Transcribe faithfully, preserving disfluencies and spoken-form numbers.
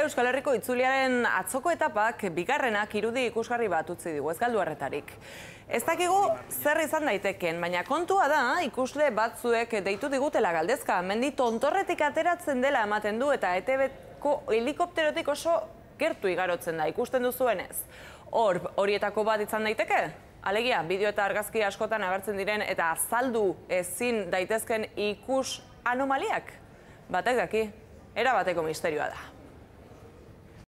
Euskal Herriko itzuliaren atzoko etapak bigarrenak irudi ikusgarri bat utzi digu, ez galdu harretarik. Ez dakigu zer izan daiteken, baina kontua da ikusle batzuek deitu digutela galdezka. Mendi tontorretik ateratzen dela ematen du eta E T Bko helikopterotik oso gertu igarotzen da, ikusten duzuenez. Hor, horietako bat izan daiteke? Alegia, bideo eta argazki askotan agertzen diren eta azaldu ezin daitezken ikus anomaliak? Batek daki, erabateko misterioa da.